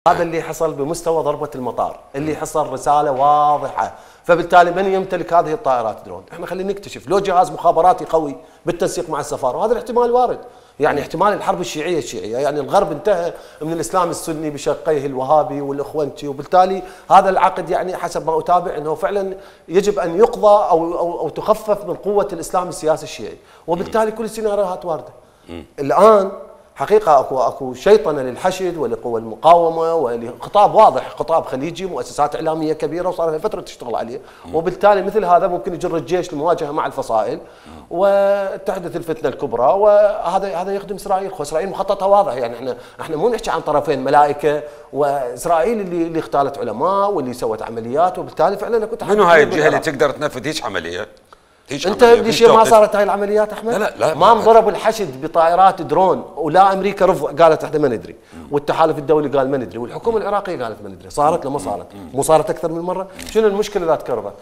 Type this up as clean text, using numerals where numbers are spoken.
هذا اللي حصل بمستوى ضربة المطار، اللي حصل رسالة واضحة، فبالتالي من يمتلك هذه الطائرات درون؟ احنا خلينا نكتشف لو جهاز مخابراتي قوي بالتنسيق مع السفارة، وهذا الاحتمال وارد. يعني احتمال الحرب الشيعية، يعني الغرب انتهى من الاسلام السني بشقيه الوهابي والاخوانتي، وبالتالي هذا العقد يعني حسب ما اتابع انه فعلا يجب ان يقضى او تخفف من قوة الاسلام السياسي الشيعي، وبالتالي كل السيناريوهات واردة. الان حقيقة اكو شيطنة للحشد ولقوى المقاومة ولخطاب واضح، خطاب خليجي، مؤسسات إعلامية كبيرة وصار لها فترة تشتغل عليه، وبالتالي مثل هذا ممكن يجر الجيش للمواجهة مع الفصائل وتحدث الفتنة الكبرى، وهذا يخدم إسرائيل. وإسرائيل مخططها واضح، يعني احنا مو نحكي عن طرفين ملائكة، وإسرائيل اللي اغتالت علماء واللي سوت عمليات، وبالتالي فعلا كنت منو هاي الجهة اللي تقدر تنفذ هيك عملية؟ انت ليش ما صارت هاي العمليات احمد؟ لا ما انضرب الحشد بطائرات درون، ولا امريكا قالت احنا ما ندري، والتحالف الدولي قال ما ندري، والحكومه العراقيه قالت ما ندري، صارت لما صارت؟ مو صارت اكثر من مره؟ شنو المشكله اذا تكررت؟